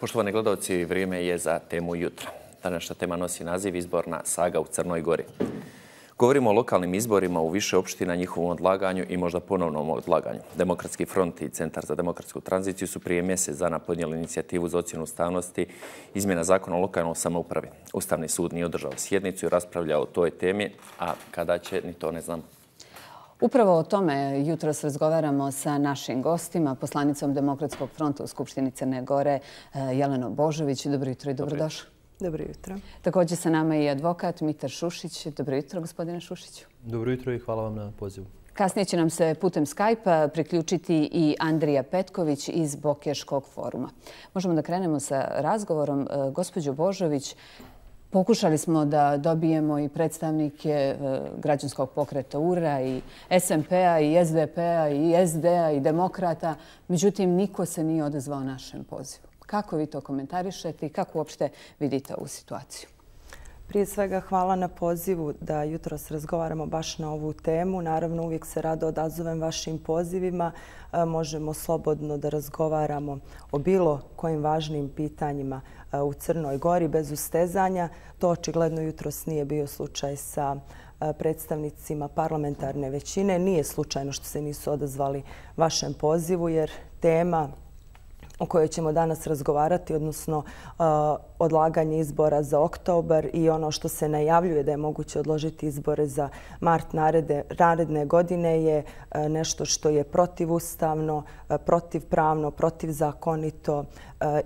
Poštovani gledalci, vrijeme je za temu jutra. Današnja tema nosi naziv Izborna saga u Crnoj Gori. Govorimo o lokalnim izborima u više opština, njihovom odlaganju i možda ponovnom odlaganju. Demokratski front i Centar za demokratsku tranziciju su prije mjesec dana podnijeli inicijativu za ocjenu ustavnosti izmjena zakona o lokalnoj samoupravi. Ustavni sud nije održao sjednicu i raspravljao o toj temi, a kada će, ni to ne znam. Upravo o tome jutros razgovaramo sa našim gostima, poslanicom Demokratskog fronta u Skupštini Crne Gore, Jelenom Božović. Dobro jutro i dobrodošli. Dobro jutro. Također sa nama je advokat Mitar Šušić. Dobro jutro, gospodine Šušiću. Dobro jutro i hvala vam na pozivu. Kasnije će nam se putem Skype-a priključiti i Andrija Petković iz Bokeškog foruma. Možemo da krenemo sa razgovorom. Gospođo Božović, pokušali smo da dobijemo i predstavnike građanskog pokreta URA i SMP-a i SDP-a i SD-a i Demokrata. Međutim, niko se nije odazvao našem pozivu. Kako vi to komentarišete i kako uopšte vidite ovu situaciju? Prije svega hvala na pozivu da jutros razgovaramo baš na ovu temu. Naravno, uvijek se rado odazovem vašim pozivima. Možemo slobodno da razgovaramo o bilo kojim važnim pitanjima u Crnoj Gori bez ustezanja. To očigledno jutros nije bio slučaj sa predstavnicima parlamentarne većine. Nije slučajno što se nisu odazvali vašem pozivu jer tema o kojoj ćemo danas razgovarati, odnosno odlaganje izbora za oktobar i ono što se najavljuje da je moguće odložiti izbore za mart naredne godine je nešto što je protivustavno, protivpravno, protivzakonito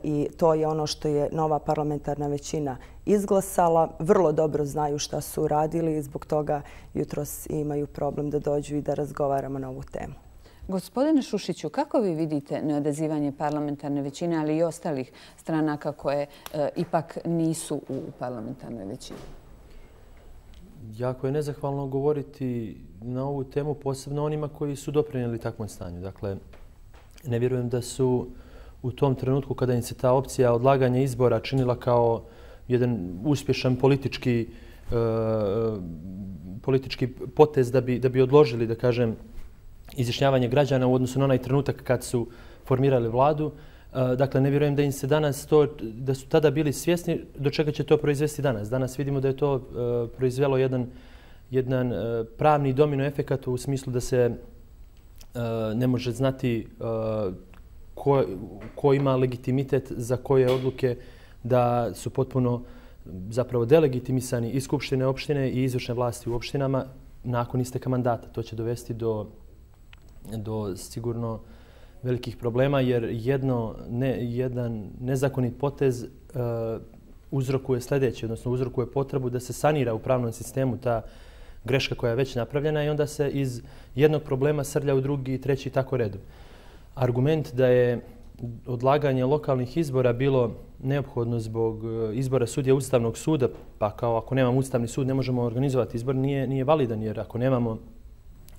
i to je ono što je nova parlamentarna većina izglasala. Vrlo dobro znaju šta su uradili i zbog toga jutros imaju problem da dođu i da razgovaramo na ovu temu. Gospodine Šušiću, kako vi vidite neodazivanje parlamentarne većine, ali i ostalih stranaka koje ipak nisu u parlamentarnoj većini? Jako je nezahvalno govoriti na ovu temu, posebno onima koji su doprinijeli takvom stanju. Dakle, ne vjerujem da su u tom trenutku kada im se ta opcija odlaganja izbora činila kao jedan uspješan politički potez da bi odložili, da kažem, izjašnjavanje građana u odnosu na onaj trenutak kad su formirali vladu. Dakle, ne vjerujem da im se danas to, da su tada bili svjesni do čega će to proizvesti danas. Danas vidimo da je to proizvelo jedan pravni domino efekat u smislu da se ne može znati ko ima legitimitet za koje odluke, da su potpuno zapravo delegitimisani i skupštine opštine i izvršne vlasti u opštinama nakon isteka mandata. To će dovesti do sigurno velikih problema jer jedan nezakonit potez uzrokuje sljedeći, odnosno uzrokuje potrebu da se sanira u pravnom sistemu ta greška koja je već napravljena i onda se iz jednog problema srlja u drugi i treći i tako redom. Argument da je odlaganje lokalnih izbora bilo neophodno zbog izbora sudija Ustavnog suda, pa kao ako nemamo Ustavni sud ne možemo organizovati izbor, nije validan jer ako nemamo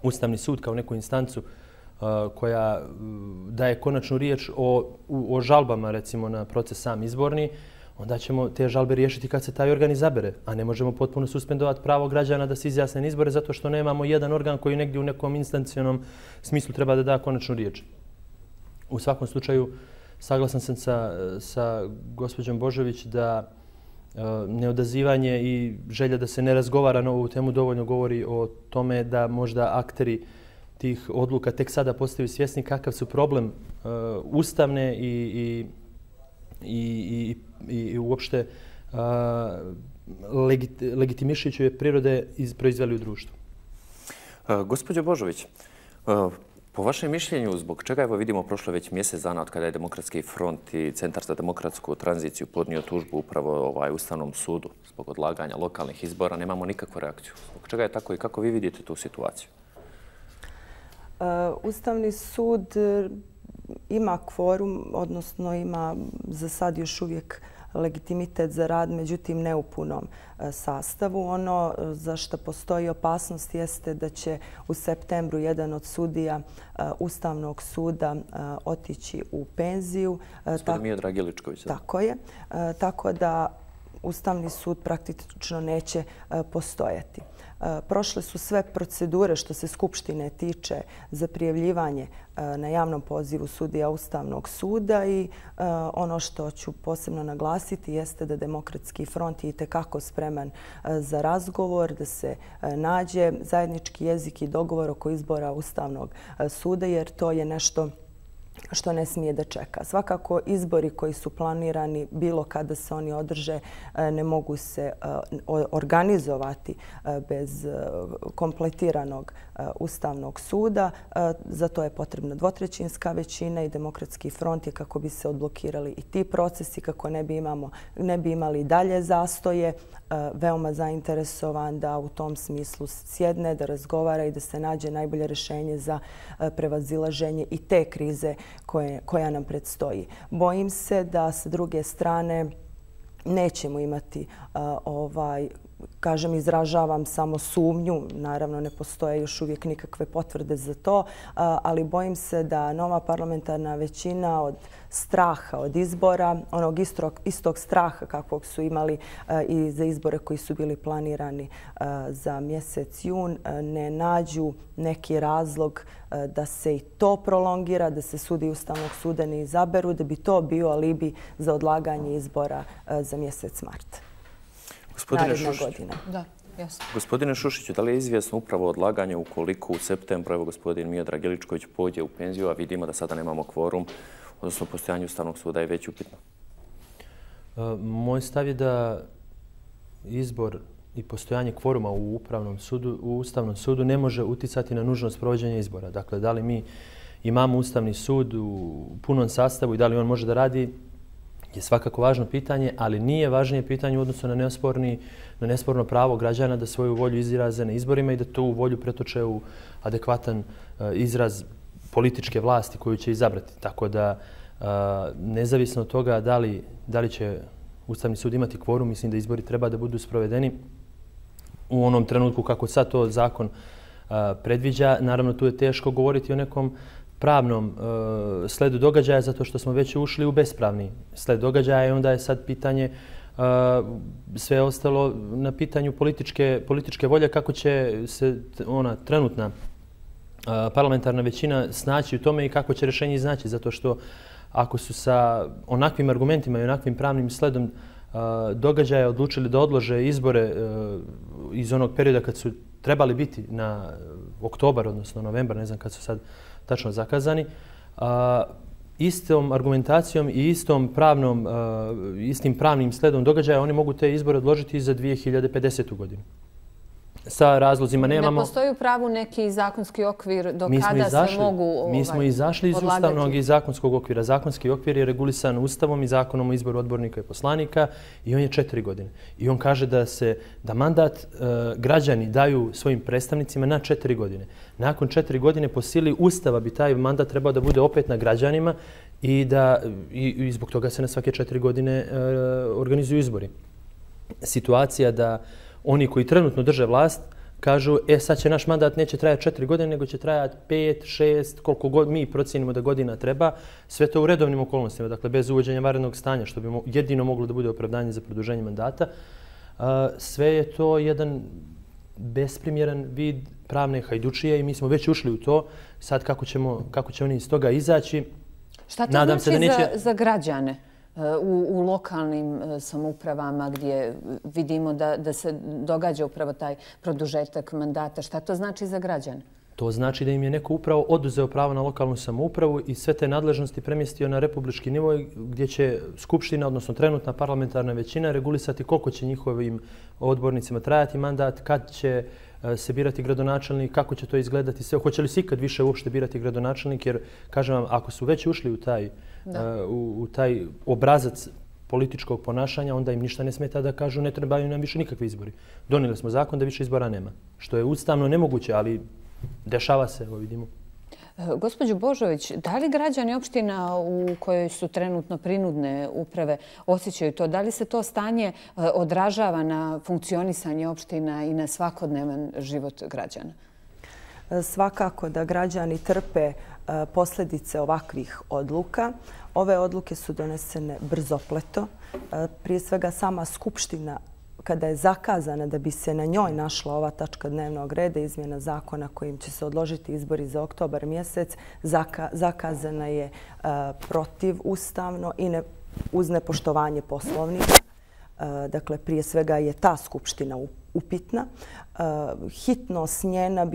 Ustavni sud kao neku instancu koja daje konačnu riječ o žalbama, recimo, na proces sam izborni, onda ćemo te žalbe riješiti kad se taj organ izabere, a ne možemo potpuno suspendovati pravo građana da se izjasne na izbore zato što nemamo jedan organ koji negdje u nekom instancijonom smislu treba da da konačnu riječ. U svakom slučaju, saglasan sam sa gospođom Božović da neodazivanje i želja da se ne razgovara na ovu temu dovoljno govori o tome da možda akteri tih odluka tek sada postaju svjesni kakav su problem ustavne i uopšte legitimišuće prirode proizveli u društvu. Gospođo Božović, po vašem mišljenju, zbog čega evo vidimo prošlo već mjesec dana od kada je Demokratski front i Centar za demokratsku tranziciju podnio tužbu upravo Ustavnom sudu zbog odlaganja lokalnih izbora, nemamo nikakvu reakciju? Zbog čega je tako i kako vi vidite tu situaciju? Ustavni sud ima kvorum, odnosno ima za sad još uvijek legitimitet za rad, međutim ne u punom sastavu. Ono za što postoji opasnost jeste da će u septembru jedan od sudija Ustavnog suda otići u penziju. Gospodin Miodrag Iličković. Tako je. Tako da Ustavni sud praktično neće postojati. Prošle su sve procedure što se Skupštine tiče za prijavljivanje na javnom pozivu sudija Ustavnog suda i ono što ću posebno naglasiti jeste da Demokratski front je itekako spreman za razgovor, da se nađe zajednički jezik i dogovor oko izbora Ustavnog suda, jer to je nešto što ne smije da čeka. Svakako, izbori koji su planirani, bilo kada se oni održe, ne mogu se organizovati bez kompletiranog Ustavnog suda. Za to je potrebna dvotrećinska većina i Demokratski front je, kako bi se odblokirali i ti procesi, kako ne bi imali dalje zastoje, veoma zainteresovan da u tom smislu sjedne, da razgovara i da se nađe najbolje rješenje za prevazilaženje i te krize koja nam predstoji. Bojim se da sa druge strane nećemo imati kažem, izražavam samo sumnju, naravno ne postoje još uvijek nikakve potvrde za to, ali bojim se da nova parlamentarna većina od straha, od izbora, onog istog straha kakvog su imali i za izbore koji su bili planirani za mjesec jun, ne nađu neki razlog da se i to prolongira, da se sudi Ustavnog suda ne izaberu, da bi to bio alibi za odlaganje izbora za mjesec mart. Gospodine Šušiću, da li je izvjesno upravo odlaganje ukoliko u septembru, evo gospodin Miodrag Iličković pođe u penziju, a vidimo da sada nemamo kvorum, odnosno postojanje Ustavnog suda je već upitno? Moj stav je da izbor i postojanje kvoruma u Ustavnom sudu ne može uticati na nužnost provođenja izbora. Dakle, da li mi imamo Ustavni sud u punom sastavu i da li on može da radi, je svakako važno pitanje, ali nije važnije pitanje u odnosu na nesporno pravo građana da svoju volju izraze na izborima i da tu volju pretoče u adekvatan izraz političke vlasti koju će izabrati. Tako da, nezavisno od toga da li će Ustavni sud imati kvorum, mislim da izbori treba da budu sprovedeni u onom trenutku kako sad to zakon predviđa. Naravno, tu je teško govoriti o nekom pravnom sledu događaja zato što smo već ušli u bespravni sled događaja i onda je sad pitanje sve ostalo na pitanju političke volje kako će se ona trenutna parlamentarna većina snaći u tome i kako će rješenje iznaći. Zato što ako su sa onakvim argumentima i onakvim pravnim sledom događaja odlučili da odlože izbore iz onog perioda kad su trebali biti na oktobar, odnosno novembar, ne znam kad su sad tačno zakazani, istom argumentacijom i istim pravnim sledom događaja oni mogu te izbore odložiti za 2050. godinu. Sa razlozima nemamo... Ne postoji u pravu neki zakonski okvir do kada se mogu odlagati? Mi smo izašli iz ustavnog i zakonskog okvira. Zakonski okvir je regulisan Ustavom i Zakonom o izboru odbornika i poslanika i on je 4 godine. I on kaže da mandat građani daju svojim predstavnicima na 4 godine. Nakon 4 godine po sili Ustava bi taj mandat trebao da bude opet na građanima i zbog toga se na svake 4 godine organizuju izbori. Situacija da oni koji trenutno drže vlast kažu sad će naš mandat neće trajati 4 godine, nego će trajati 5, 6, koliko god mi procijenimo da godina treba. Sve to u redovnim okolnostima, dakle bez uvođenja vanrednog stanja, što bi jedino moglo da bude opravdanje za produženje mandata. Sve je to jedan besprimjeran vid pravne hajdučije i mi smo već ušli u to. Sad kako će oni iz toga izaći? Šta to znači za građane? U lokalnim samoupravama gdje vidimo da se događa upravo taj produžetak mandata. Šta to znači za građane? To znači da im je neko upravo oduzeo pravo na lokalnu samoupravu i sve te nadležnosti premjestio na republički nivo gdje će Skupština, odnosno trenutna parlamentarna većina, regulisati koliko će njihovim odbornicima trajati mandat, kad će se birati gradonačelnik, kako će to izgledati sve. Hoće li se ikad više uopšte birati gradonačelnik? Jer, kažem vam, ako su već ušli u taj obrazac političkog ponašanja, onda im ništa ne smeta da kažu ne trebaju nam više nikakvi izbori. Donijeli smo zakon da više izbora nema. Što je ustavno nemoguće, ali dešava se, evo vidimo. Gospođo Božović, da li građani opština u kojoj su trenutno prinudne uprave osjećaju to? Da li se to stanje odražava na funkcionisanje opština i na svakodnevan život građana? Svakako da građani trpe posljedice ovakvih odluka. Ove odluke su donesene brzopleto. Prije svega sama Skupština, kada je zakazana da bi se na njoj našla ova tačka dnevnog reda, izmjena zakona kojim će se odložiti izbori za oktobar mjesec, zakazana je protivustavno i uz nepoštovanje Poslovnika. Dakle, prije svega je ta Skupština upitna. Hitnost njena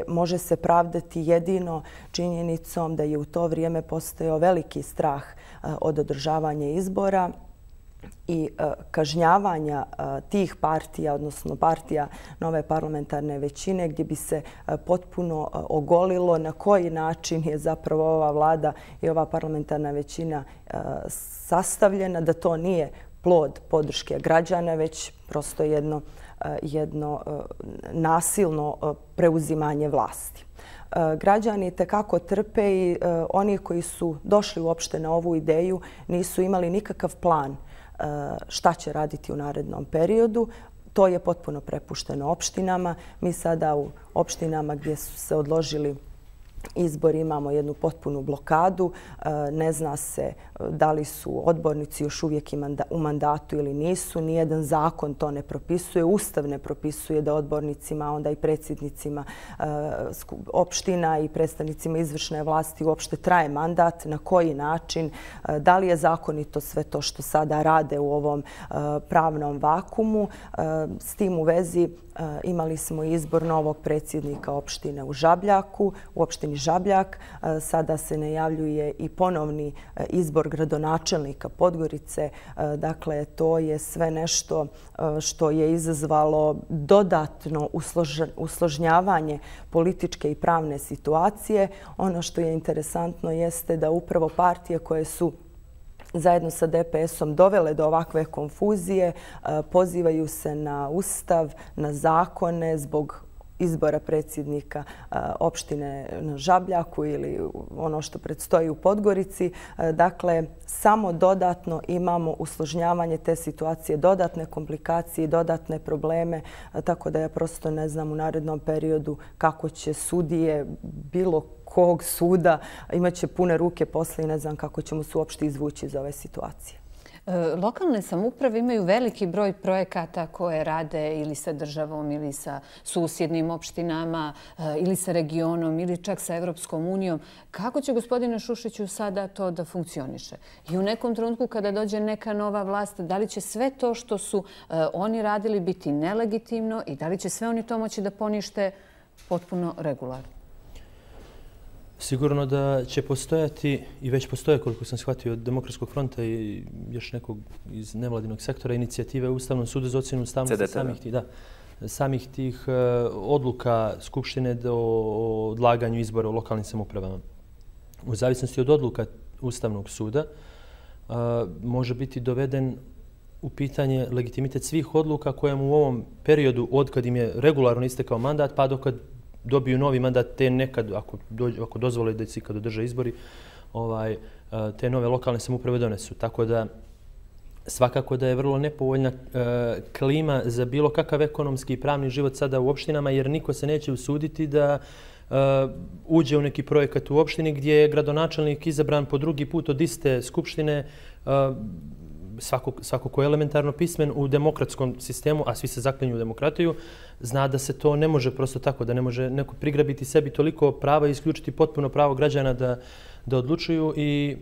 može se pravdati jedino činjenicom da je u to vrijeme postojao veliki strah od održavanja izbora i kažnjavanja tih partija, odnosno partija nove parlamentarne većine, gdje bi se potpuno ogolilo na koji način je zapravo ova vlada i ova parlamentarna većina sastavljena, da to nije plod podrške građana, već prosto jedno nasilno preuzimanje vlasti. Građani tekako trpe i oni koji su došli uopšte na ovu ideju nisu imali nikakav plan šta će raditi u narednom periodu. To je potpuno prepušteno opštinama. Mi sada u opštinama gdje su se odložili izbori imamo jednu potpunu blokadu. Ne zna se da li su odbornici još uvijek u mandatu ili nisu. Nijedan zakon to ne propisuje. Ustav ne propisuje da odbornicima, onda i predsjednicima opština i predstavnicima izvršne vlasti uopšte traje mandat. Na koji način? Da li je zakonito sve to što sada rade u ovom pravnom vakumu? S tim u vezi imali smo izbor novog predsjednika opštine u Žabljaku, u opštini Žabljak. Sada se najavljuje i ponovni izbor gradonačelnika Podgorice. Dakle, to je sve nešto što je izazvalo dodatno usložnjavanje političke i pravne situacije. Ono što je interesantno jeste da upravo partije koje su zajedno sa DPS-om dovele do ovakve konfuzije, pozivaju se na Ustav, na zakone zbog izbora predsjednika opštine na Žabljaku ili ono što predstoji u Podgorici. Dakle, samo dodatno imamo usložnjavanje te situacije, dodatne komplikacije i dodatne probleme, tako da ja prosto ne znam u narednom periodu kako će sudije bilo kog suda imaće pune ruke posle i ne znam kako ćemo se uopšte izvući iz ove situacije. Lokalne samouprave imaju veliki broj projekata koje rade ili sa državom ili sa susjednim opštinama ili sa regionom ili čak sa Evropskom unijom. Kako će, gospodine Šušiću, sada to da funkcioniše? I u nekom trenutku kada dođe neka nova vlast, da li će sve to što su oni radili biti nelegitimno i da li će sve oni to moći da ponište potpuno regularno? Sigurno da će postojati i već postoje, koliko sam shvatio, od Demokratskog fronta i još nekog iz nevladinog sektora inicijative u Ustavnom sudu za ocjenu ustavnosti samih tih odluka Skupštine o odlaganju izbora u lokalnim samoupravama. U zavisnosti od odluka Ustavnog suda može biti doveden u pitanje legitimitet svih odluka kojemu u ovom periodu od kad im je regularno istekao mandat pa dokad dobiju novi mandat, te nekad, ako dozvole da se ikad održe izbori, te nove lokalne samouprave donesu. Tako da svakako da je vrlo nepovoljna klima za bilo kakav ekonomski i pravni život sada u opštinama, jer niko se neće usuditi da uđe u neki projekat u opštini gdje je gradonačelnik izabran po drugi put od iste skupštine, svako ko je elementarno pismen u demokratskom sistemu, a svi se zaklinju u demokratiju, zna da se to ne može prosto tako, da ne može neko prigrabiti sebi toliko prava i isključiti potpuno pravo građana da odlučuju i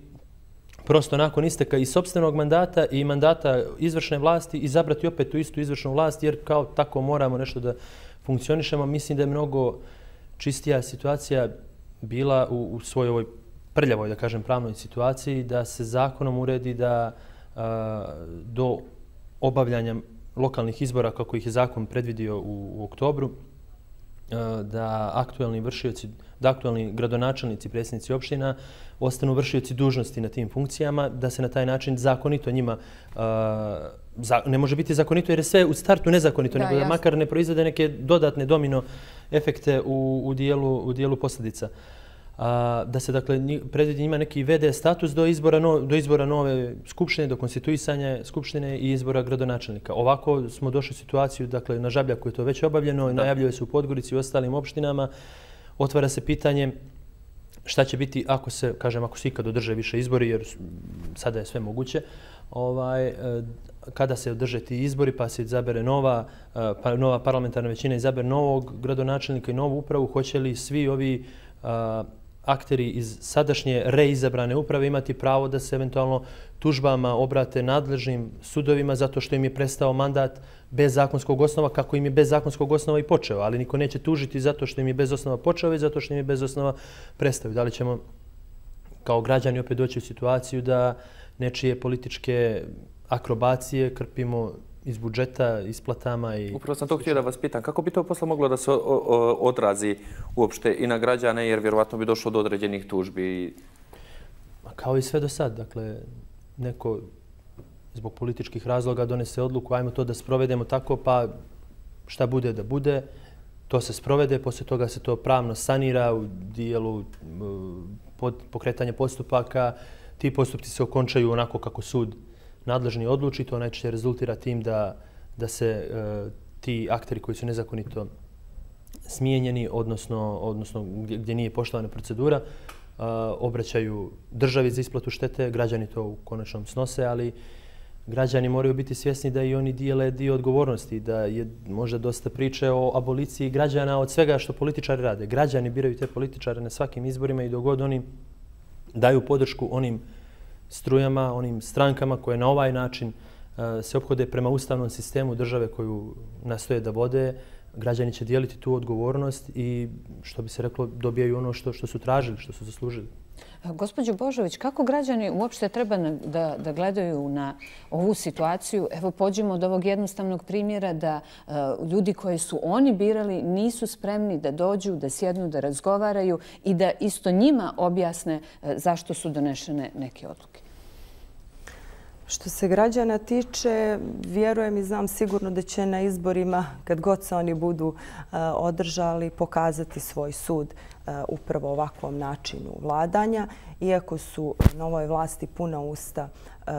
prosto nakon isteka i sopstvenog mandata i mandata izvršne vlasti izabrati opet tu istu izvršnu vlast, jer kao tako moramo nešto da funkcionišemo. Mislim da je mnogo čistija situacija bila u svojoj ovoj prljavoj, da kažem, pravnoj situaciji, da se zakonom uredi da do obavljanja lokalnih izbora, kako ih je zakon predvidio u oktobru, da aktualni gradonačelnici, predsjednici opština ostanu vršioci dužnosti na tim funkcijama, da se na taj način zakonito njima, ne može biti zakonito jer je sve u startu nezakonito, nego da makar ne proizvede neke dodatne domino efekte u dijelu posljedica. Da se dakle predvidi njima neki VD status do izbora nove skupštine, do konstituisanja skupštine i izbora gradonačelnika. Ovako smo došli u situaciju, dakle na Žabljaku je to već obavljeno, najavljuje se u Podgorici i ostalim opštinama. otvara se pitanje šta će biti ako se ikad održe više izbori, jer sada je sve moguće, kada se održe ti izbori pa se izabere nova parlamentarna većina, izabere novog gradonačelnika i novu upravu, hoće li svi ovi akteri iz sadašnje reizabrane uprave imati pravo da se eventualno tužbama obrate nadležnim sudovima zato što im je prestao mandat bez zakonskog osnova, kako im je bez zakonskog osnova i počeo, ali niko neće tužiti zato što im je bez osnova počeo i zato što im je bez osnova prestao. Da li ćemo kao građani opet doći u situaciju da nečije političke akrobacije krpimo iz budžeta, isplatama i... Upravo sam to htio da vas pitam. Kako bi to posle moglo da se odrazi uopšte i na građane, jer vjerovatno bi došlo do određenih tužbi? Kao i sve do sad. Dakle, neko zbog političkih razloga donese odluku, ajmo to da sprovedemo tako, pa šta bude da bude, to se sprovede, poslije toga se to pravno sanira u dijelu pokretanja postupaka. Ti postupci se okončaju onako kako sud nadležni odluči, to najčešće rezultira tim da se ti akteri koji su nezakonito smijenjeni, odnosno gdje nije poštovana procedura, obraćaju državi za isplatu štete, građani to u konačnom snose, ali građani moraju biti svjesni da i oni dijele dio odgovornosti, da je možda dosta priče o aboliciji građana od svega što političari rade. Građani biraju te političare na svakim izborima i dok god oni daju podršku onim strujama, onim strankama koje na ovaj način se ophode prema ustavnom sistemu države koju nastoje da vode, građani će dijeliti tu odgovornost i, što bi se reklo, dobijaju ono što su tražili, što su zaslužili. Gospođo Božović, kako građani uopšte treba da gledaju na ovu situaciju? Evo, pođimo od ovog jednostavnog primjera da ljudi koji su oni birali nisu spremni da dođu, da sjednu, da razgovaraju i da isto njima objasne zašto su donešene neke odluke. Što se građana tiče, vjerujem i znam sigurno da će na izborima, kad god se oni budu održali, pokazati svoj sud upravo ovakvom načinu vladanja. Iako su novoj vlasti puna usta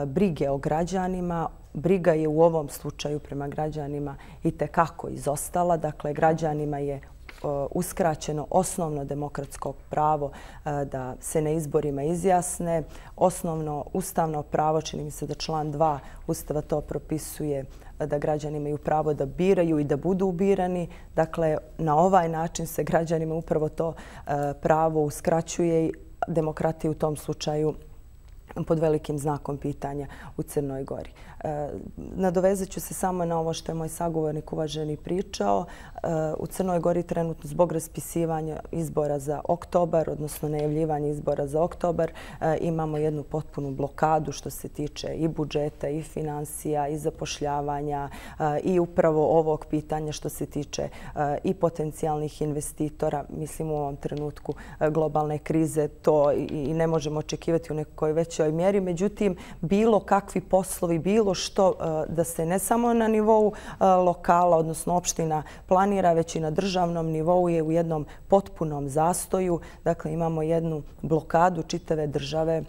brige o građanima, briga je u ovom slučaju prema građanima itekako izostala. Dakle, građanima je uskraćeno osnovno demokratsko pravo da se na izborima izjasne. Osnovno ustavno pravo, čini mi se da član 2 Ustava to propisuje, da građani imaju pravo da biraju i da budu birani. Dakle, na ovaj način se građanima upravo to pravo uskraćuje i demokratija u tom slučaju pod velikim znakom pitanja u Crnoj Gori. Nadovezat ću se samo na ovo što je moj sagovornik uvaženi pričao. U Crnoj Gori trenutno zbog raspisivanja izbora za oktobar, odnosno najavljivanja izbora za oktobar, imamo jednu potpunu blokadu što se tiče i budžeta, i financija, i zapošljavanja, i upravo ovog pitanja što se tiče i potencijalnih investitora. Mislim, u ovom trenutku globalne krize to i ne možemo očekivati u nekoj većoj mjeri. Međutim, bilo kakvi poslovi, bilo što da se ne samo na nivou lokala, odnosno opština planira, već i na državnom nivou je u jednom potpunom zastoju. Dakle, imamo jednu blokadu čitave države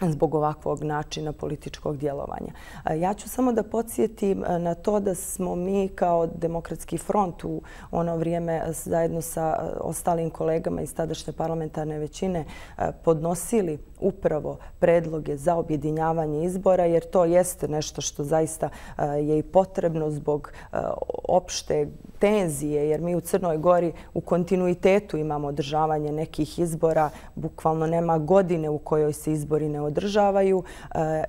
zbog ovakvog načina političkog djelovanja. Ja ću samo da podsjetim na to da smo mi kao Demokratski front u ono vrijeme zajedno sa ostalim kolegama iz tadašnje parlamentarne većine podnosili upravo predloge za objedinjavanje izbora, jer to jeste nešto što zaista je i potrebno zbog opšte tenzije, jer mi u Crnoj Gori u kontinuitetu imamo održavanje nekih izbora. Bukvalno nema godine u kojoj se izbori ne održavaju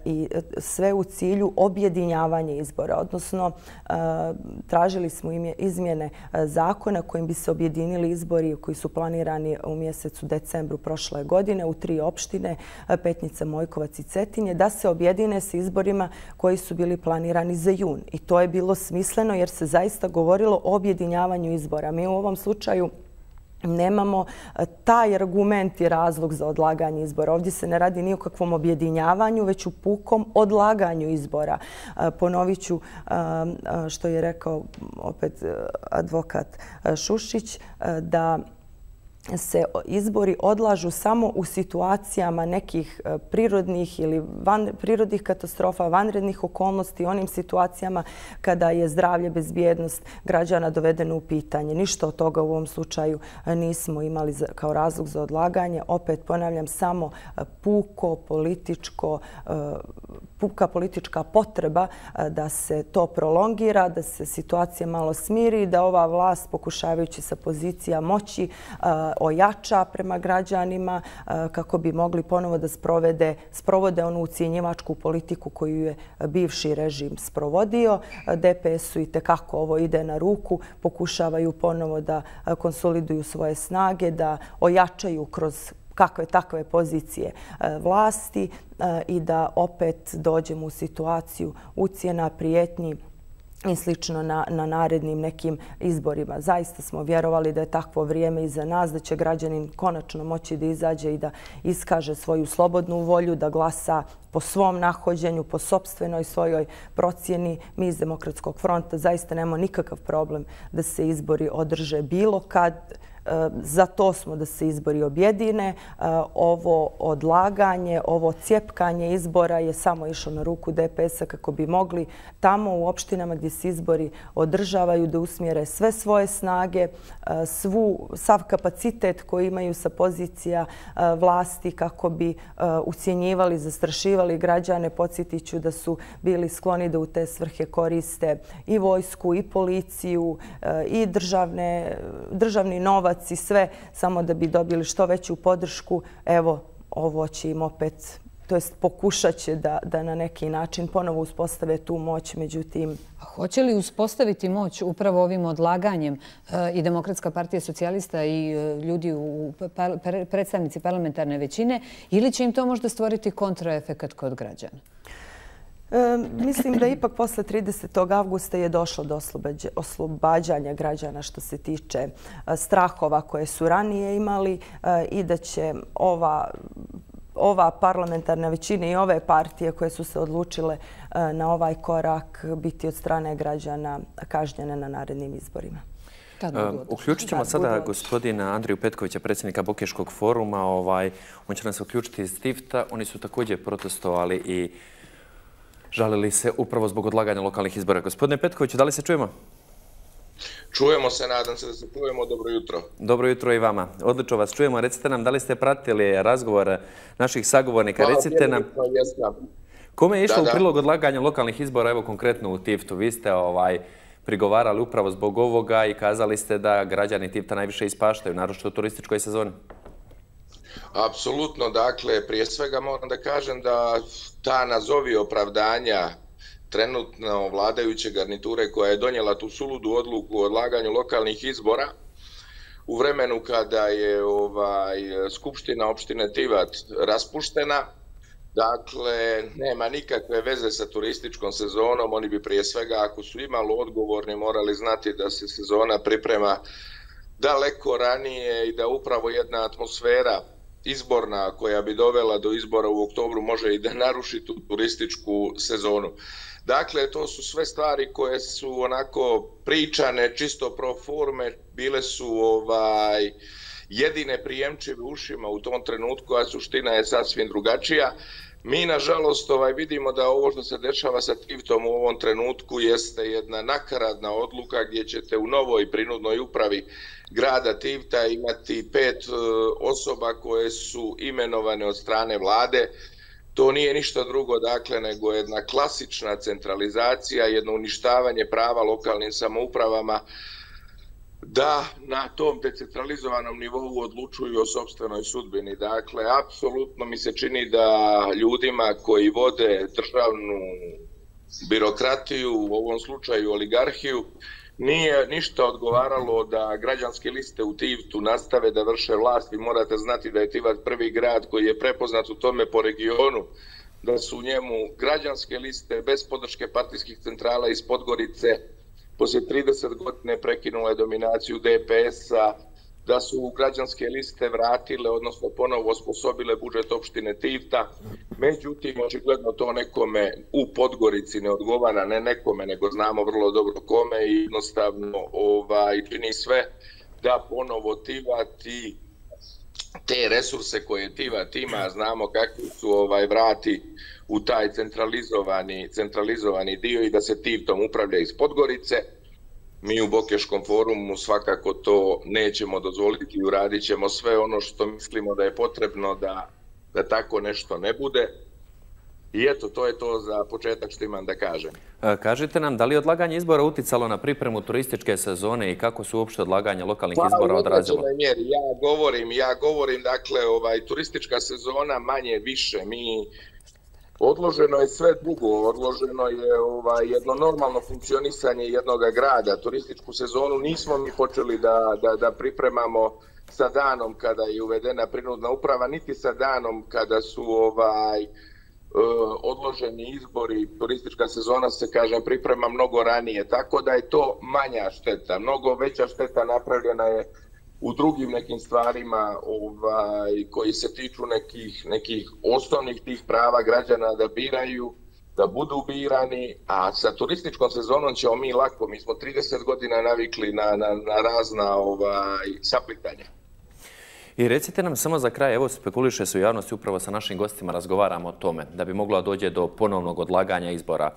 i sve u cilju objedinjavanja izbora. Odnosno, tražili smo izmjene zakona kojim bi se objedinili izbori koji su planirani u mjesecu decembru prošle godine u 3 opštine, Petnica, Mojkovac i Cetinje, da se objedine sa izborima koji su bili planirani za jun. I to je bilo smisleno jer se zaista govorilo o objedinjavanju izbora. Mi u ovom slučaju nemamo taj argument i razlog za odlaganje izbora. Ovdje se ne radi ni o kakvom objedinjavanju, već u pukom odlaganju izbora. Ponovit ću što je rekao opet advokat Šušić, da se izbori odlažu samo u situacijama nekih prirodnih ili prirodnih katastrofa, vanrednih okolnosti, onim situacijama kada je zdravlje, bezbjednost građana dovedeno u pitanje. Ništa od toga u ovom slučaju nismo imali kao razlog za odlaganje. Opet ponavljam, samo puka politička potreba da se to prolongira, da se situacija malo smiri, da ova vlast, pokušavajući sa pozicija moći, ojača prema građanima kako bi mogli ponovo da sprovode onu ucjenjivačku politiku koju je bivši režim sprovodio. DPS-u itekako ovo ide na ruku, pokušavaju ponovo da konsoliduju svoje snage, da ojačaju kroz kakve takve pozicije vlasti i da opet dođemo u situaciju ucjena, prijetnji i slično na narednim nekim izborima. Zaista smo vjerovali da je takvo vrijeme iza nas, da će građanin konačno moći da izađe i da iskaže svoju slobodnu volju, da glasa po svom nahođenju, po sopstvenoj svojoj procjeni. Mi iz Demokratskog fronta zaista nemamo nikakav problem da se izbori održe bilo kad. Za to smo da se izbori objedine. Ovo odlaganje, ovo cjepkanje izbora je samo išlo na ruku DPS-a kako bi mogli tamo u opštinama gdje se izbori održavaju da usmjere sve svoje snage, sav kapacitet koji imaju sa pozicija vlasti kako bi ucjenjivali, zastrašivali građane. Podsjetit ću da su bili skloni da u te svrhe koriste i vojsku, i policiju, i državni novac i sve, samo da bi dobili što veću podršku. Evo, ovo će im opet, to jest pokušat će da na neki način ponovo uspostave tu moć, međutim... Hoće li uspostaviti moć upravo ovim odlaganjem i Demokratska partija socijalista i ljudi, predstavnici parlamentarne većine, ili će im to možda stvoriti kontraefekat kod građana? Mislim da ipak posle 30. avgusta je došlo do oslobađanja građana što se tiče strahova koje su ranije imali i da će ova parlamentarna većina i ove partije koje su se odlučile na ovaj korak biti od strane građana kažnjene na narednim izborima. Uključit ćemo sada gospodina Andriju Petkovića, predsjednika Bokeškog foruma. On će nas uključiti iz Tifta. Oni su također protestovali i žalili se upravo zbog odlaganja lokalnih izbora. Gospodine Petkoviću, da li se čujemo? Čujemo se, nadam se da se čujemo. Dobro jutro. Dobro jutro i vama. Odlično vas čujemo. Recite nam, da li ste pratili razgovor naših sagovornika? Recite nam, kome je išlo u prilog odlaganja lokalnih izbora, evo konkretno u Tiftu? Vi ste prigovarali upravo zbog ovoga i kazali ste da građani Tifta najviše ispaštaju, naročito u turističkoj sezoni. Apsolutno, dakle, prije svega moram da kažem da ta nazovi opravdanja trenutno vladajuće garniture koja je donijela tu suludu odluku o odlaganju lokalnih izbora u vremenu kada je Skupština opštine Tivat raspuštena, dakle, nema nikakve veze sa turističkom sezonom. Oni bi prije svega, ako su imalo odgovorni, morali znati da se sezona priprema daleko ranije i da upravo jedna atmosfera izborna koja bi dovela do izbora u oktobru može i da naruši tu turističku sezonu. Dakle, to su sve stvari koje su onako pričane čisto pro forme, bile su jedine prijemčive ušima u tom trenutku, a suština je sasvim drugačija. Mi, nažalost, vidimo da ovo što se dešava sa Tiftom u ovom trenutku jeste jedna nakaradna odluka gdje ćete u novoj prinudnoj upravi grada Tifta imati 5 osoba koje su imenovane od strane vlade. To nije ništa drugo, dakle, nego jedna klasična centralizacija, jedno uništavanje prava lokalnim samoupravama da na tom decentralizovanom nivou odlučuju o sopstvenoj sudbini. Dakle, apsolutno mi se čini da ljudima koji vode državnu birokratiju, u ovom slučaju oligarhiju, nije ništa odgovaralo da građanske liste u Tiftu nastave da vrše vlast. Vi morate znati da je Tivat prvi grad koji je prepoznat u tome po regionu, da su u njemu građanske liste bez podrške partijskih centrala iz Podgorice poslije 30 godine prekinule dominaciju DPS-a, da su građanske liste vratile, odnosno ponovo osposobile budžet opštine Tifta. Međutim, očigledno to nekome u Podgorici ne odgovara, ne nekome, nego znamo vrlo dobro kome i jednostavno čini sve da ponovo Tivat i te resurse koje Tivat ima, znamo kakvi su vrati u taj centralizovani dio i da se Tivtom upravlja iz Podgorice. Mi u Bokeškom forumu svakako to nećemo dozvoliti i uradit ćemo sve ono što mislimo da je potrebno da tako nešto ne bude. I eto, to je to za početak što imam da kažem. Kažite nam, da li je odlaganje izbora uticalo na pripremu turističke sezone i kako su uopšte odlaganje lokalnih izbora odrazilo? Ja govorim, dakle, turistička sezona manje više. Odloženo je sve drugo, odloženo je jedno normalno funkcionisanje jednog grada. Turističku sezonu nismo mi počeli da pripremamo sa danom kada je uvedena prinudna uprava, niti sa danom kada su odloženi izbori. Turistička sezona se, kažem, priprema mnogo ranije, tako da je to manja šteta. Mnogo veća šteta napravljena je u drugim nekim stvarima koji se tiču nekih osnovnih tih prava građana da biraju, da budu birani, a sa turističkom sezonom ćemo mi lako. Mi smo 30 godina navikli na razna saplitanja. I recite nam samo za kraj, evo spekuliše se u javnosti, upravo sa našim gostima razgovaramo o tome, da bi moglo dođe do ponovnog odlaganja izbora.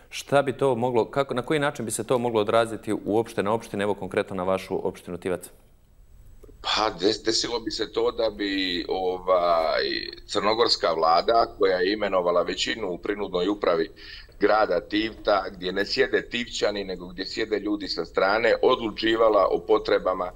Šta bi to moglo, na koji način bi se to moglo odraziti uopšte na opštine, evo konkretno na vašu opštinu Tivac? Pa desilo bi se to da bi crnogorska vlada, koja je imenovala većinu u prinudnoj upravi grada Tivta, gdje ne sjede Tivčani, nego gdje sjede ljudi sa strane, odlučivala o potrebama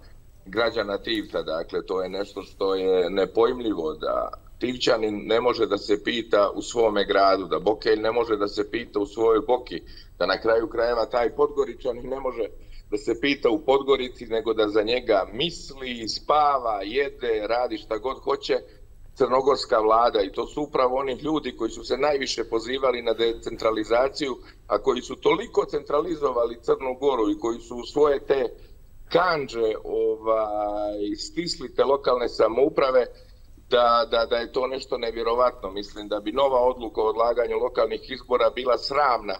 građana Tivta. Dakle, to je nešto što je nepojmljivo, da Tivčanin ne može da se pita u svome gradu, da Bokelj ne može da se pita u svojoj Boki, da na kraju krajeva taj Podgoričanin ne može da se pita u Podgorici, nego da za njega misli, spava, jede, radi šta god hoće crnogorska vlada. I to su upravo oni ljudi koji su se najviše pozivali na decentralizaciju, a koji su toliko centralizovali Crnu Goru i koji su u svoje te kandže stisli te lokalne samouprave, da je to nešto nevjerovatno. Mislim da bi nova odluka o odlaganju lokalnih izbora bila sramna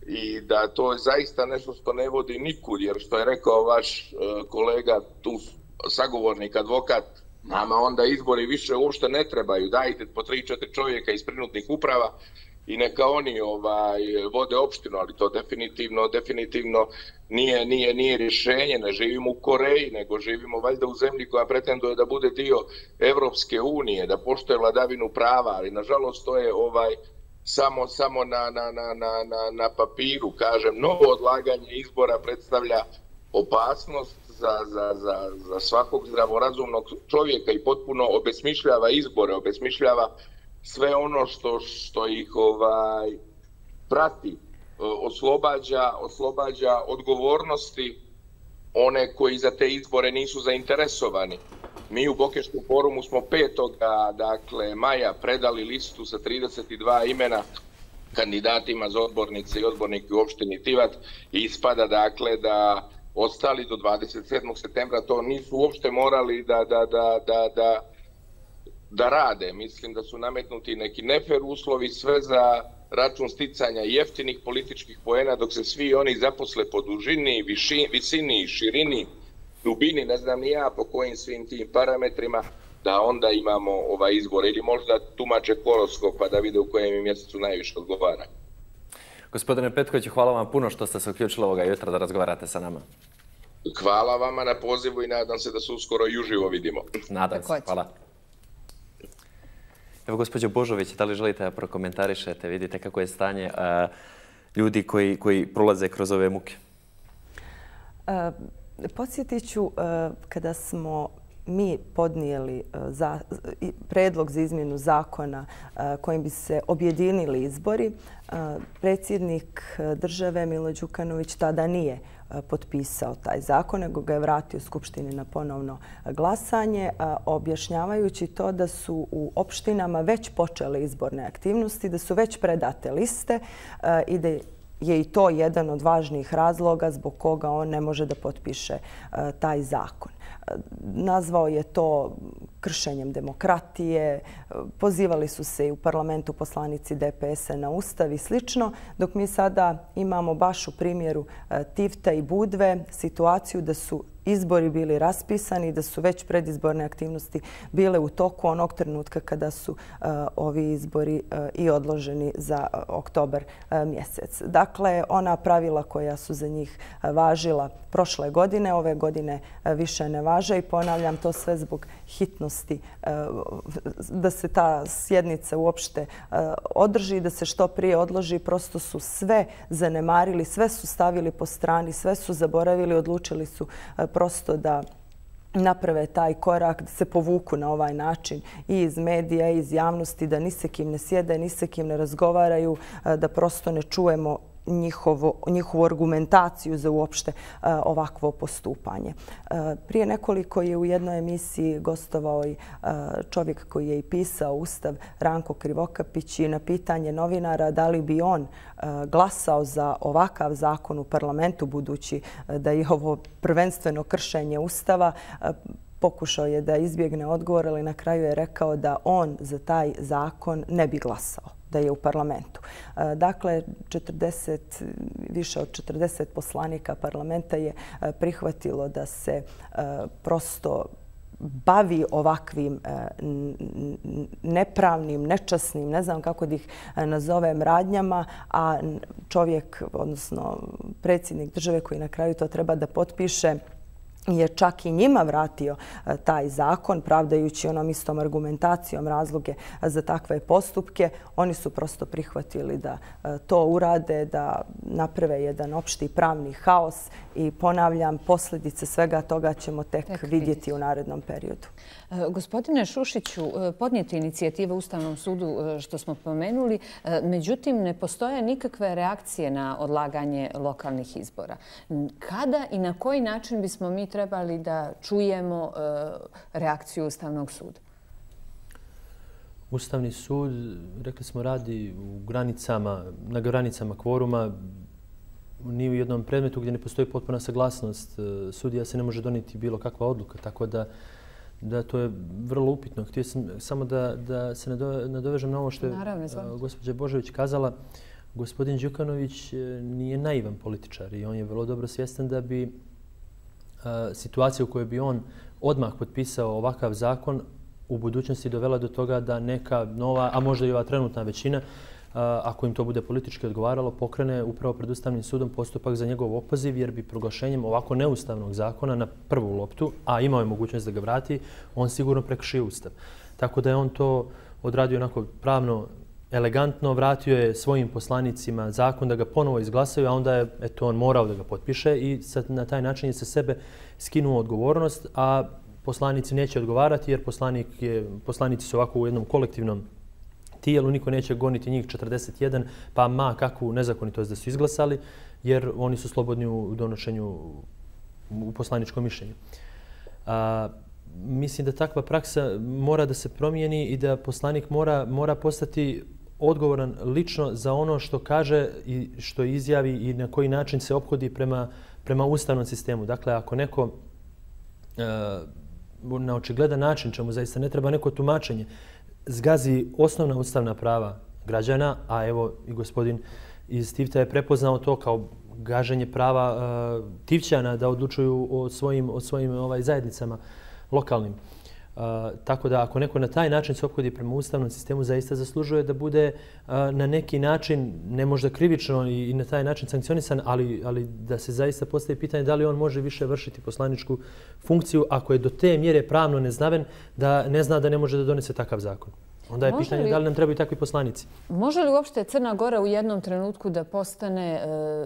i da to je zaista nešto što ne vodi nikud, jer što je rekao vaš kolega, tu sagovornik, advokat, nama onda izbori više uopšte ne trebaju, dajte po 3-4 čovjeka iz prinudnih uprava i neka oni vode opštinu, ali to definitivno nije rješenje. Ne živimo u Koreji, nego živimo valjda u zemlji koja pretenduje da bude dio Evropske unije, da poštuje vladavinu prava, ali nažalost to je samo na papiru. Kažem, novo odlaganje izbora predstavlja opasnost za svakog zdravorazumnog čovjeka i potpuno obesmišljava izbore, obesmišljava sve ono što ih prati, oslobađa odgovornosti one koji za te izbore nisu zainteresovani. Mi u Bokeškom forumu smo 5. maja predali listu sa 32 imena kandidatima za odbornice i odbornike u opštini Tivat i ispada da ostali do 27. septembra to nisu uopšte morali da rade. Mislim da su nametnuti neki nefer uslovi, sve za račun sticanja jeftinih političkih poena, dok se svi oni zaposle po dužini, visini, širini, dubini, ne znam ni ja po kojim svim tim parametrima, da onda imamo izbor. Ili možda tumače horoskop pa da vide u kojem mjesecu najviše odgovara. Gospodine Petković, hvala vam puno što ste se uključili ovoga jutra da razgovarate sa nama. Hvala vama na pozivu i nadam se da se uskoro i uživo vidimo. Nadam se, hvala. Evo, gospođo Božović, da li želite da prokomentarišete, vidite kako je stanje ljudi koji prolaze kroz ove muke? Podsjetit ću, kada smo mi podnijeli predlog za izmjenu zakona kojim bi se objedinili izbori, predsjednik države Milo Đukanović tada nije potpisao taj zakon, nego ga je vratio Skupštini na ponovno glasanje, objašnjavajući to da su u opštinama već počele izborne aktivnosti, da su već predate liste i da je i to jedan od važnijih razloga zbog koga on ne može da potpiše taj zakon. Nazvao je to kršenjem demokratije, pozivali su se i u parlamentu poslanici DPS-a na Ustav i slično, dok mi sada imamo baš u primjeru Tivta i Budve situaciju da su izbori bili raspisani i da su već predizborne aktivnosti bile u toku onog trenutka kada su ovi izbori i odloženi za oktobar mjesec. Dakle, ona pravila koja su za njih važila prošle godine, ove godine više ne važe i ponavljam to sve zbog hitnosti da se ta sjednica uopšte održi, da se što prije odloži. Prosto su sve zanemarili, sve su stavili po strani, sve su zaboravili, odlučili su prosto da naprave taj korak, da se povuku na ovaj način i iz medija i iz javnosti, da ni se kim ne sjede, ni se kim ne razgovaraju, da prosto ne čujemo njihovu argumentaciju za uopšte ovakvo postupanje. Prije nekoliko je u jednoj emisiji gostovao i čovjek koji je i pisao Ustav, Ranko Krivokapić, i na pitanje novinara da li bi on glasao za ovakav zakon u parlamentu, budući da je ovo prvenstveno kršenje Ustava, pokušao je da izbjegne odgovor, ali na kraju je rekao da on za taj zakon ne bi glasao da je u parlamentu. Dakle, više od 40 poslanika parlamenta je prihvatilo da se prosto bavi ovakvim nepravnim, nečasnim, ne znam kako da ih nazovem, radnjama, a čovjek, odnosno predsjednik države koji na kraju to treba da potpiše, je čak i njima vratio taj zakon, pravdajući onom istom argumentacijom razloge za takve postupke. Oni su prosto prihvatili da to urade, da naprave jedan opšti pravni haos i ponavljam, posljedice svega toga ćemo tek vidjeti u narednom periodu. Gospodine Šušiću, podnijete inicijative Ustavnom sudu što smo pomenuli, međutim ne postoje nikakve reakcije na odlaganje lokalnih izbora. Kada i na koji način bismo mi trebali da čujemo reakciju Ustavnog suda? Ustavni sud, rekli smo, radi na granicama kvoruma. Ni u jednom predmetu gdje ne postoji potpuna saglasnost sudija se ne može donijeti bilo kakva odluka, tako da to je vrlo upitno. Htio sam samo da se nadovežem na ovo što je gospođa Božović kazala. Gospodin Đukanović nije naivan političar i on je vrlo dobro svjestan da bi situacija u kojoj bi on odmah potpisao ovakav zakon u budućnosti dovela do toga da neka nova, a možda i ova trenutna većina, ako im to bude politički odgovaralo, pokrene upravo pred Ustavnim sudom postupak za njegov opoziv, jer bi proglašenjem ovako neustavnog zakona na prvu loptu, a imao je mogućnost da ga vrati, on sigurno prekršio Ustav. Tako da je on to odradio onako pravno elegantno, vratio je svojim poslanicima zakon da ga ponovo izglasaju, a onda je on morao da ga potpiše i na taj način je sa sebe skinuo odgovornost, a poslanici neće odgovarati jer poslanici su ovako u jednom kolektivnom tijelu, niko neće goniti njih 41, pa ma kakvu nezakonitost da su izglasali, jer oni su slobodni u donošenju u poslaničkom mišljenju. Mislim da takva praksa mora da se promijeni i da poslanik mora postati odgovoran lično za ono što kaže i što izjavi i na koji način se ophodi prema ustavnom sistemu. Dakle, ako neko na očigledan način, čemu zaista ne treba neko tumačenje, zgazi osnovna ustavna prava građana, a evo i gospodin iz Tivta je prepoznao to kao gaženje prava Tivćana da odlučuju o svojim zajednicama lokalnim. Tako da ako neko na taj način se ophodi prema ustavnom sistemu, zaista zaslužuje da bude na neki način, ne možda krivično i na taj način sankcionisan, ali da se zaista postavi pitanje da li on može više vršiti poslaničku funkciju ako je do te mjere pravno neznaven da ne zna da ne može da donese takav zakon. Onda je pitanje da li nam trebaju takvi poslanici. Može li uopšte Crna Gora u jednom trenutku da postane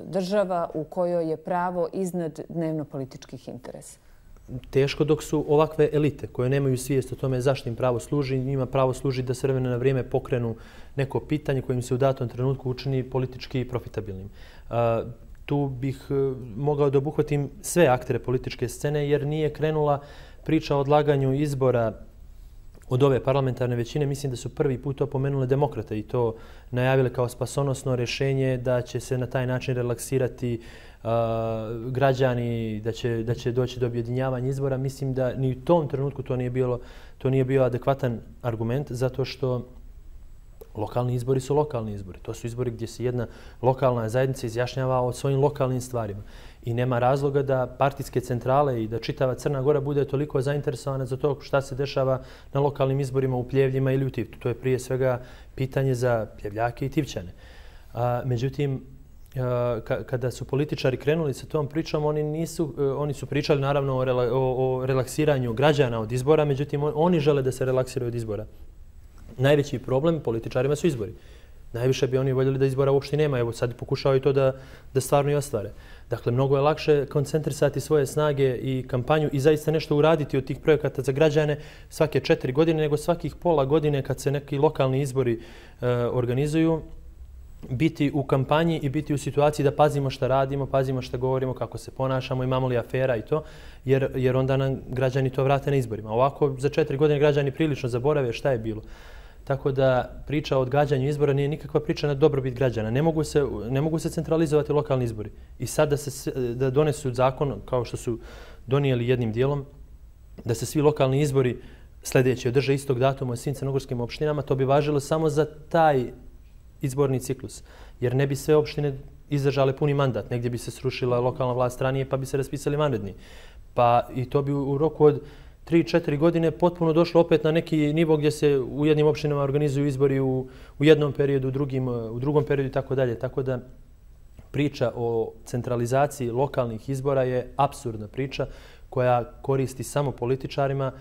država u kojoj je pravo iznad dnevno-političkih interesa? Teško dok su ovakve elite koje nemaju svijest o tome zašto im pravo služi. Njima pravo služi da s vremena na vrijeme pokrenu neko pitanje kojim se u datom trenutku učini politički profitabilnim. Tu bih mogao da obuhvatim sve aktere političke scene jer nije krenula priča o odlaganju izbora od ove parlamentarne većine. Mislim da su prvi put to pomenule demokrate i to najavile kao spasonosno rješenje da će se na taj način relaksirati građani, da će doći do objedinjavanja izbora. Mislim da ni u tom trenutku to nije bio adekvatan argument, zato što Lokalni izbori su lokalni izbori. To su izbori gdje se jedna lokalna zajednica izjašnjava o svojim lokalnim stvarima. I nema razloga da partijske centrale i da čitava Crna Gora bude toliko zainteresovana za to šta se dešava na lokalnim izborima u Pljevljima ili u Tivtu. To je prije svega pitanje za Pljevljake i Tivčane. Međutim, kada su političari krenuli sa tom pričom, oni su pričali naravno o relaksiranju građana od izbora, međutim oni žele da se relaksiraju od izbora. Najveći problem političarima su izbori. Najviše bi oni voljeli da izbora uopšte nema. Evo sad pokušavaju to da stvarno i ostvare. Dakle, mnogo je lakše koncentrisati svoje snage i kampanju i zaista nešto uraditi od tih projekata za građane svake 4 godine, nego svakih pola godine kad se neki lokalni izbori organizuju, biti u kampanji i biti u situaciji da pazimo šta radimo, pazimo šta govorimo, kako se ponašamo, imamo li afera i to, jer onda nam građani to vrate na izborima. Ovako, za 4 godine građani prilično zaborave šta je bilo. Tako da priča o odgađanju izbora nije nikakva priča na dobrobit građana. Ne mogu se centralizovati lokalni izbori. I sad da donesu zakon, kao što su donijeli jednim dijelom, da se svi lokalni izbori sljedeći održe istog datuma u svim crnogorskim opštinama, to bi važilo samo za taj izborni ciklus. Jer ne bi sve opštine izdržale puni mandat. Negdje bi se srušila lokalna vlast ranije pa bi se raspisali vanredni. Pa i to bi u roku od 3-4 godine potpuno došlo opet na neki nivo gdje se u jednim opštinama organizuju izbori u jednom periodu, u drugom periodu i tako dalje. Tako da priča o centralizaciji lokalnih izbora je apsurdna priča koja koristi samo političarima,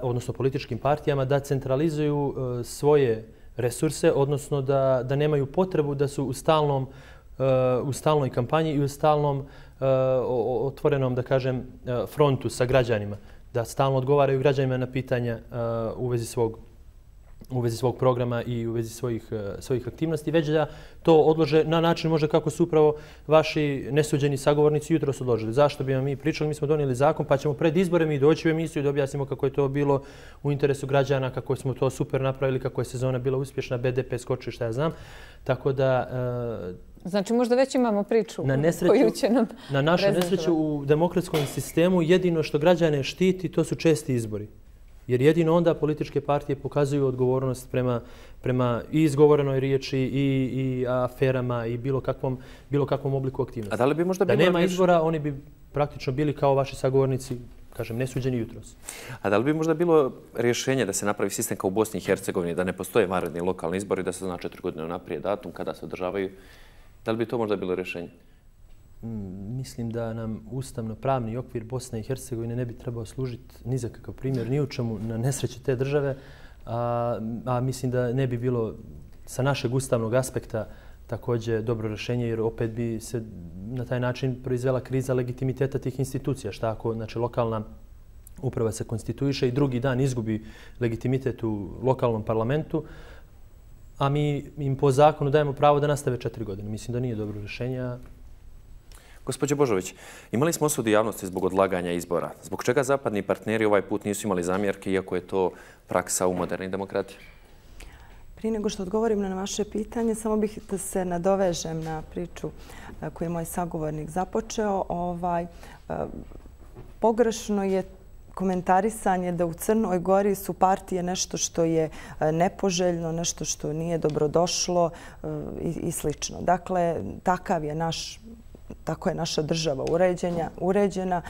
odnosno političkim partijama, da centralizuju svoje resurse, odnosno da nemaju potrebu da su u stalnoj kampanji i u stalnom otvorenom, da kažem, frontu sa građanima, da stalno odgovaraju građanima na pitanja u vezi svog programa i u vezi svojih aktivnosti, već da to odlože na način možda kako su upravo vaši nesuđeni sagovornici jutros odložili. Zašto bi vam mi pričali? Mi smo donijeli zakon pa ćemo pred izbore mi doći u emisiju da objasnimo kako je to bilo u interesu građana, kako smo to super napravili, kako je sezona bila uspješna, BDP skoči, šta ja znam. Tako da... Znači možda već imamo priču koju će nam na našu nesreću u demokratskom sistemu jedino što građane štiti to su česti izbori. Jer jedino onda političke partije pokazuju odgovornost prema i izgovorenoj riječi i aferama i bilo kakvom obliku aktivnosti. A da li bi možda bilo nema izbora, oni bi praktično bili kao vaši sagovornici, kažem, nesuđeni jutros. A da li bi možda bilo rješenje da se napravi sistem kao u Bosni i Hercegovini, da ne postoje vanredni lokalni izbori, da se zna 4 godine naprijed datum kada se održavaju? Da li bi to možda bilo rješenje? Mislim da nam ustavno-pravni okvir Bosne i Hercegovine ne bi trebao služiti ni za kakav primjer, ni u čemu na nesreći te države, a mislim da ne bi bilo sa našeg ustavnog aspekta također dobro rješenje, jer opet bi se na taj način proizvela kriza legitimiteta tih institucija. Šta ako lokalna uprava se konstituiše i drugi dan izgubi legitimitet u lokalnom parlamentu, a mi im po zakonu dajemo pravo da nastave 4 godine. Mislim da nije dobro rješenje. Gospođo Božović, imali smo osudi javnosti zbog odlaganja izbora. Zbog čega zapadni partneri ovaj put nisu imali zamjerke, iako je to praksa u modernih demokratiji? Prije nego što odgovorim na vaše pitanje, samo bih da se nadovežem na priču koju je moj sagovornik započeo. Pogrešno je komentarisanje da u Crnoj Gori su partije nešto što je nepoželjno, nešto što nije dobrodošlo i slično. Dakle, tako je naša država uređena.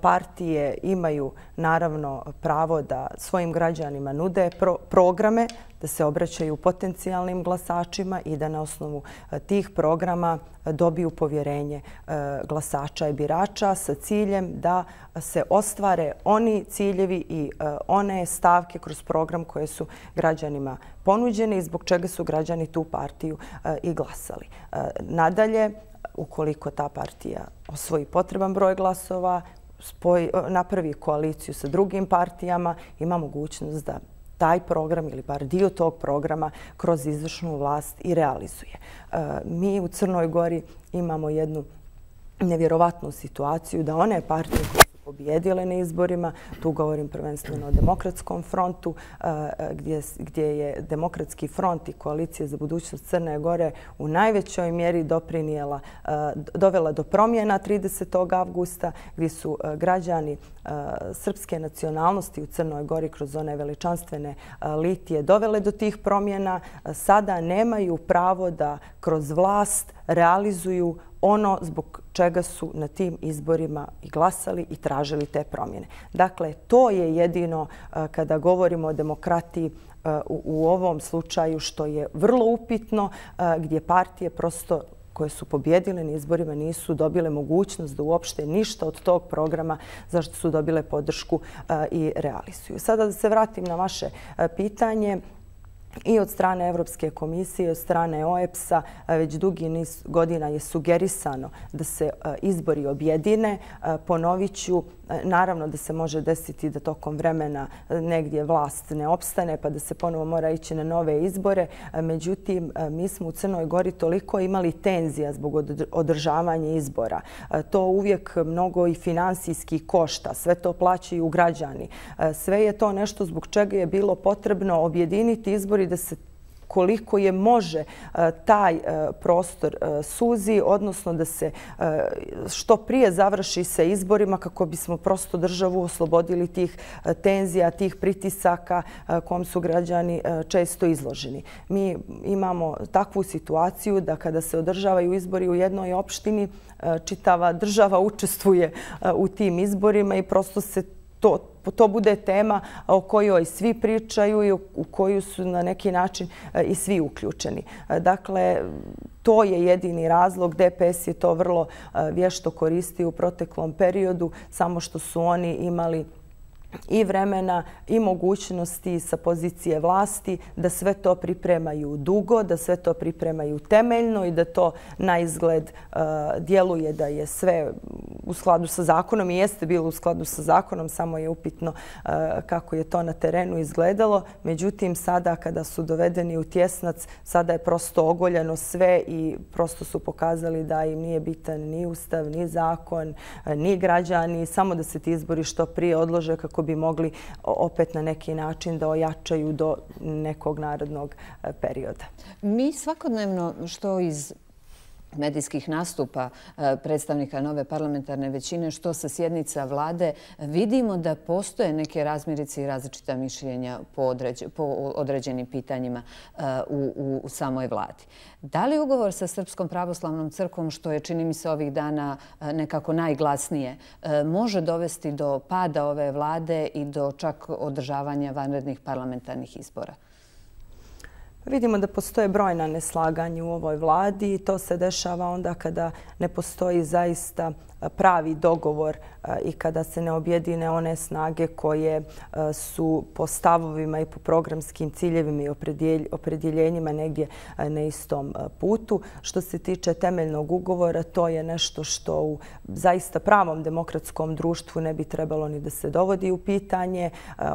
Partije imaju naravno pravo da svojim građanima nude programe, da se obraćaju potencijalnim glasačima i da na osnovu tih programa dobiju povjerenje glasača i birača sa ciljem da se ostvare oni ciljevi i one stavke kroz program koje su građanima ponuđene i zbog čega su građani tu partiju i glasali. Nadalje, ukoliko ta partija osvoji potreban broj glasova, napravi koaliciju sa drugim partijama, ima mogućnost da taj program ili bar dio tog programa kroz izvršnu vlast i realizuje. Mi u Crnoj Gori imamo jednu nevjerovatnu situaciju da one partije koje su pobijedile na izborima. Tu govorim prvenstveno o Demokratskom frontu, gdje je Demokratski front i Koalicija za budućnost Crne Gore u najvećoj mjeri dovela do promjena 30. avgusta, gdje su građani srpske nacionalnosti u Crnoj Gori kroz one veličanstvene litije dovele do tih promjena. Sada nemaju pravo da kroz vlast realizuju ono zbog čega su na tim izborima i glasali i tražili te promjene. Dakle, to je jedino kada govorimo o demokratiji u ovom slučaju što je vrlo upitno, gdje partije prosto koje su pobjedile na izborima nisu dobile mogućnost da uopšte ništa od tog programa zašto su dobile podršku i realizuju. Sada da se vratim na vaše pitanje. I od strane Evropske komisije, od strane OEBS-a već dugi niz godina je sugerisano da se izbori objedine. Ponovit ću, naravno da se može desiti da tokom vremena negdje vlast ne opstane pa da se ponovo mora ići na nove izbore. Međutim, mi smo u Crnoj Gori toliko imali tenzija zbog održavanja izbora. To uvijek mnogo i finansijski košta. Sve to plaćaju građani. Sve je to nešto zbog čega je bilo potrebno objediniti izbori da se koliko je može taj prostor suzi, odnosno da se što prije završi sa izborima kako bismo prosto državu oslobodili tih tenzija, tih pritisaka kom su građani često izloženi. Mi imamo takvu situaciju da kada se održavaju izbori u jednoj opštini, čitava država učestvuje u tim izborima i prosto se to bude tema o kojoj svi pričaju i u koju su na neki način i svi uključeni. Dakle, to je jedini razlog. DPS je to vrlo vješto koristio u proteklom periodu, samo što su oni imali i vremena i mogućnosti sa pozicije vlasti da sve to pripremaju dugo, da sve to pripremaju temeljno i da to na izgled djeluje da je sve u skladu sa zakonom i jeste bilo u skladu sa zakonom, samo je upitno kako je to na terenu izgledalo. Međutim, sada kada su dovedeni u tjesnac, sada je prosto ogoljeno sve i prosto su pokazali da im nije bitan ni ustav, ni zakon, ni građani, samo da se ti izbori što prije odlože kako bi mogli opet na neki način da ojačaju do nekog narodnog perioda. Mi svakodnevno što iz medijskih nastupa predstavnika nove parlamentarne većine, što sa sjednica vlade, vidimo da postoje neke razmirice i različita mišljenja po određenim pitanjima u samoj vladi. Da li ugovor sa Srpskom pravoslavnom crkvom, što je, čini mi se, ovih dana nekako najglasnije, može dovesti do pada ove vlade i do čak održavanja vanrednih parlamentarnih izbora? Vidimo da postoje brojna neslaganja u ovoj vladi i to se dešava onda kada ne postoji zaista pravi dogovor i kada se ne objedine one snage koje su po stavovima i po programskim ciljevima i opredjeljenjima negdje na istom putu. Što se tiče temeljnog ugovora, to je nešto što u zaista pravom demokratskom društvu ne bi trebalo ni da se dovodi u pitanje.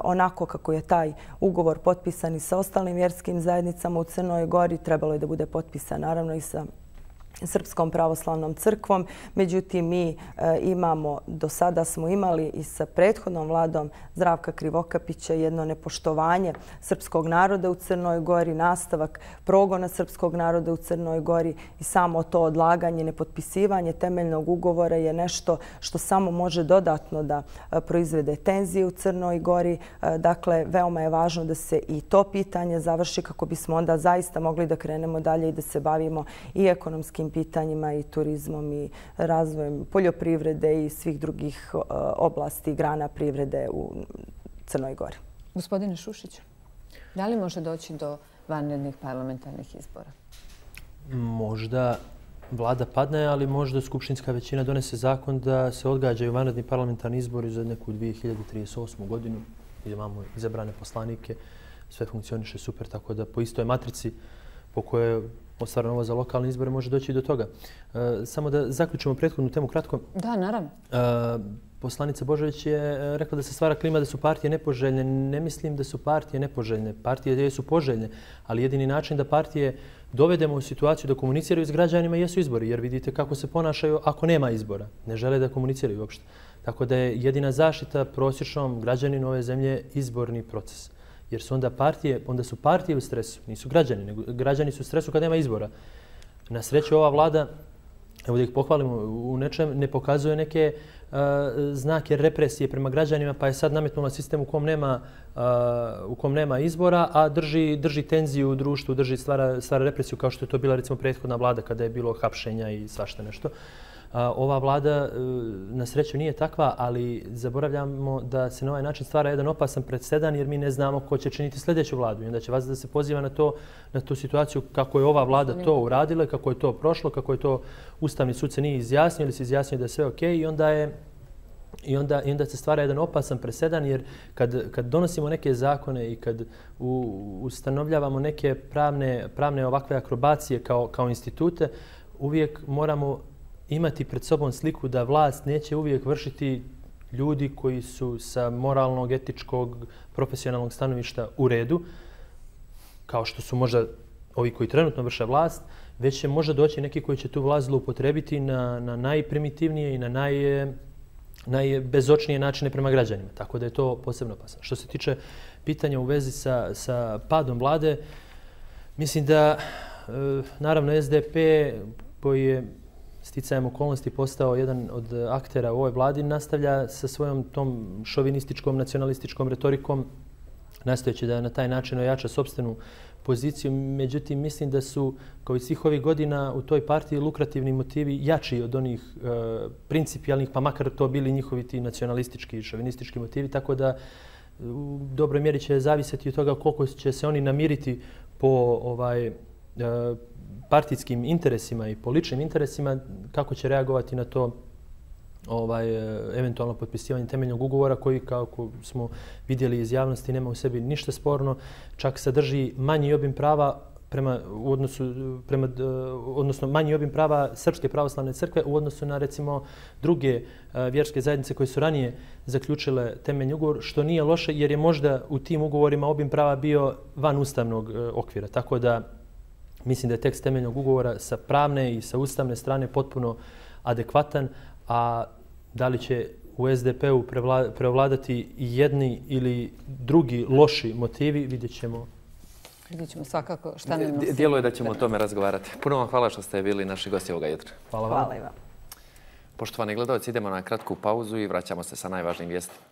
Onako kako je taj ugovor potpisan i sa ostalim vjerskim zajednicama u Crnoj Gori, trebalo je da bude potpisan naravno i sa Srpskom pravoslavnom crkvom. Međutim, mi do sada smo imali i sa prethodnom vladom Zdravka Krivokapića jedno nepoštovanje srpskog naroda u Crnoj Gori, nastavak progona srpskog naroda u Crnoj Gori i samo to odlaganje, nepotpisivanje temeljnog ugovora je nešto što samo može dodatno da proizvede tenzije u Crnoj Gori. Dakle, veoma je važno da se i to pitanje završi kako bismo onda zaista mogli da krenemo dalje i da se bavimo i ekonomskim pitanjima i turizmom i razvojem poljoprivrede i svih drugih oblasti i grana privrede u Crnoj Gori. Gospodine Šušiću, da li može doći do vanrednih parlamentarnih izbora? Možda vlada padne, ali možda skupštinska većina donese zakon da se odgađaju vanredni parlamentarni izbori za neku 2038. godinu. Imamo izabrane poslanike, sve funkcioniše super, tako da po istoj matrici po kojoj je ostvareno ovo za lokalne izbore može doći i do toga. Samo da zaključimo prethodnu temu kratko. Da, naravno. Poslanica Božović je rekla da se stvara klima da su partije nepoželjne. Ne mislim da su partije nepoželjne. Partije su poželjne, ali jedini način da partije dovedemo u situaciju da komuniciraju s građanima jesu izbori, jer vidite kako se ponašaju ako nema izbora. Ne žele da komuniciraju uopšte. Tako da je jedina zaštita prosječnom građaninu ove zemlje izborni proces. Jer su onda su partije u stresu, nisu građani, nego građani su u stresu kad nema izbora. Na sreću ova vlada, evo da ih pohvalimo u nečem, ne pokazuje neke znake represije prema građanima, pa je sad nametnula sistem u kom nema izbora, a drži tenziju u društvu, stvara represiju kao što je to bila recimo prethodna vlada kada je bilo hapšenja i svašta nešto. Ova vlada na sreću nije takva, ali zaboravljamo da se na ovaj način stvara jedan opasan presedan jer mi ne znamo ko će činiti sljedeću vladu. I onda će vas da se poziva na tu situaciju kako je ova vlada to uradila, kako je to prošlo, kako je to Ustavni sud se nije izjasnio ili se izjasnio da je sve okej i onda se stvara jedan opasan presedan jer kad donosimo neke zakone i kad ustanovljavamo neke pravne ovakve akrobacije kao institute, uvijek moramo imati pred sobom sliku da vlast neće uvijek vršiti ljudi koji su sa moralnog, etičkog, profesionalnog stanovišta u redu, kao što su možda ovi koji trenutno vrše vlast, već će možda doći neki koji će tu vlast zloupotrebiti na najprimitivnije i na najbezočnije načine prema građanima. Tako da je to posebno opasno. Što se tiče pitanja u vezi sa padom vlade, mislim da naravno SDP koji je sticajem okolnosti postao jedan od aktera u ovoj vladi, nastavlja sa svojom tom šovinističkom, nacionalističkom retorikom, nastojeći da na taj način ojača sopstvenu poziciju. Međutim, mislim da su, kao i svih ovih godina, u toj partiji lukrativni motivi jači od onih principijalnih, pa makar to bili njihovi ti nacionalistički i šovinistički motivi, tako da u dobroj mjeri će zavisiti od toga koliko će se oni namiriti po partijskim interesima i po ličnim interesima, kako će reagovati na to eventualno potpisivanje temeljnog ugovora koji, kako smo vidjeli iz javnosti, nema u sebi ništa sporno, čak sadrži manji obim prava odnosno manji obim prava Srpske pravoslavne crkve u odnosu na recimo druge vjerske zajednice koje su ranije zaključile temeljni ugovor, što nije loše jer je možda u tim ugovorima obim prava bio van ustavnog okvira. Tako da mislim da je tekst temeljnog ugovora sa pravne i sa ustavne strane potpuno adekvatan, a da li će u SDP-u preovladati jedni ili drugi loši motivi, vidjet ćemo. Vidjet ćemo svakako šta nam nosi. Djeluje da ćemo o tome razgovarati. Puno vam hvala što ste bili naši gosti ovoga jutra. Hvala vam. Poštovani gledalci, idemo na kratku pauzu i vraćamo se sa najvažnijim vijestima.